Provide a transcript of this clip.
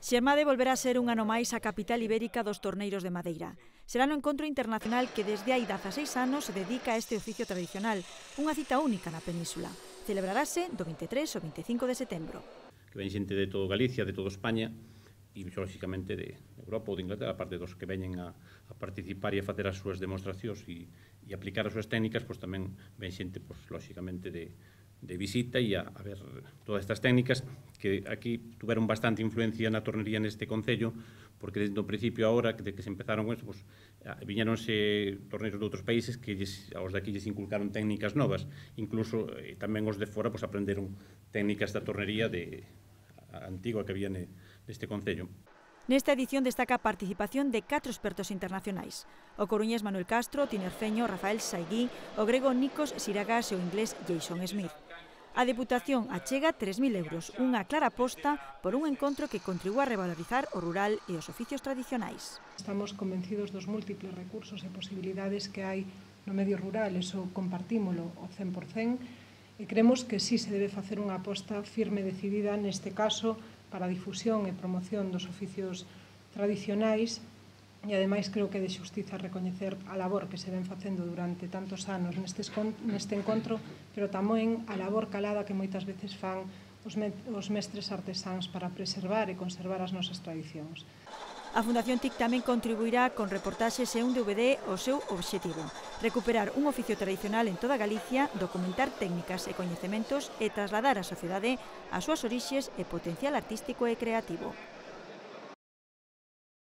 Xermade volverá a ser un ano máis a capital ibérica dos torneiros de madeira. Será no encontro internacional que desde hai 16 anos se dedica a este oficio tradicional, unha cita única na península. Celebrarase do 23 ao 25 de setembro. Que ven xente de todo Galicia, de todo España, e lóxicamente de Europa ou de Inglaterra, aparte dos que veñen a participar e a facer as súas demostracións e aplicar as súas técnicas, pois tamén ven xente, pois, lóxicamente, de visita e a ver todas estas técnicas que aquí tuveron bastante influencia na tornería neste concello, porque desde o principio a hora de que se empezaron con isto, pues, viñeronse torneiros de outros países que aos de aquí lles inculcaron técnicas novas, incluso tamén os de fora pues, aprenderon técnicas da tornería antigua que había neste concello. Nesta edición destaca a participación de 4 expertos internacionais. O coruñés Manuel Castro, o tinerfeño Rafael Saigui, o grego Nikos Siragas e o inglés Jason Smith. A Deputación achega 3.000 euros, unha clara aposta por un encontro que contribúa a revalorizar o rural e os oficios tradicionais. Estamos convencidos dos múltiples recursos e posibilidades que hai no medio rural, eso compartímolo ao 100%, e creemos que sí se debe facer unha aposta firme e decidida neste caso para a difusión e promoción dos oficios tradicionais e ademais creo que é de xustiza recoñecer a labor que se ven facendo durante tantos anos neste encontro, pero tamén a labor calada que moitas veces fan os mestres artesáns para preservar e conservar as nosas tradicións. A Fundación TIC tamén contribuirá con reportaxes e un DVD ao seu obxectivo: recuperar un oficio tradicional en toda Galicia, documentar técnicas e coñecementos e trasladar á sociedade as súas orixes e potencial artístico e creativo.